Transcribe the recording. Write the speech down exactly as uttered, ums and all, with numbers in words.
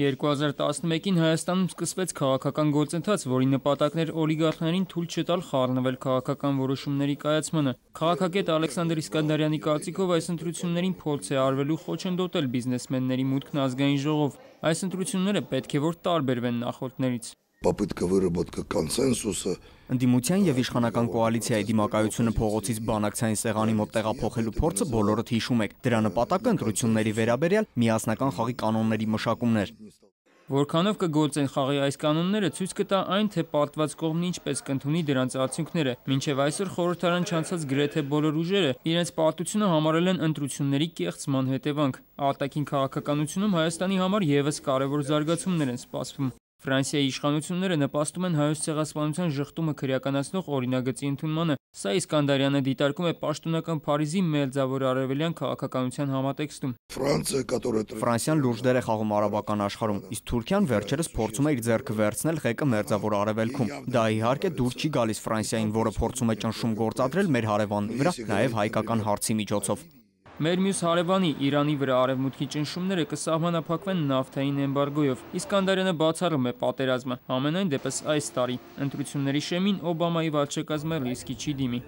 երկու հազար տասնմեկին Հայաստանում սկսվեց քաղաքական գործընթաց, որի նպատակն էր օլիգարխներին թույլ չտալ խառնվել քաղաքական որոշումների կայացմանը։ Քաղաքագետ Ալեքսանդր Իսկանդարյանի կարծիքով այս ընտրություններին փորձ է արվելու խոչընդոտել բիզնեսմենների մուտքն ազգային ժողով։ Այս ընտրությունները պետք է որ տարբերվեն նախորդներից։ Попытка выработка консенсуса. Ընդդիմության եւ իշխանական կոալիցիայի դիմակայությունը փողոցից բանակցային սեղանի մոտ տեղափոխելու փորձը բոլորդ հիշում եք։ Դրա նպատակը ընտրությունների վերաբերյալ միասնական խաղի կանոնների մշակումն էր։ Որքանով կգործեն խաղի այս կանոնները ցույց կտա այն, թե պարտված կողմն ինչպես կընդունի դրանց արդյունքները։ Մինչև այսօր խորհրդարան չանցած գրեթե բոլոր ուժերը իրենց պարտությունը համարել են ընտրությունների կեղծման հետևանք։ Արտաքին քաղաքականությունում Հայաստանի համար եւս կարևոր զարգացումներ են սպասվում։ Ֆրանսիայի իշխանությունները նպաստում են հայոց ցեղասպանության ժխտումը քրեականացնող օրինագծի ընդունմանը։ Սա Իսկանդարյանը դիտարկում է պաշտոնական Փարիզի մերձավոր արևելյան քաղաքականության համատեքստում։ Ֆրանսիան լուրջ դեր է խաղում արաբական աշխարհում, իսկ Թուրքիան վերջերս փորձում է իր ձեռքը վերցնել ղեկը մերձավոր արևելքում։ Դա իհարկե դուր չի գալիս Ֆրանսիային, որը փորձում է ճնշում գործադրել մեր հարևանների վրա, նաև հայկական հարցի միջոցով։ Մեր մյուս հարևանի Իրանի վրա արևմուտքի ճնշումները կսահմանափակվեն նավթային էմբարգոյով։ Իսկանդարյանը բացառում է պատերազմը։ Համենայն դեպս այս տարի ընտրությունների շեմին Օբամայի վարչակազմը ռիսկի չի դիմի։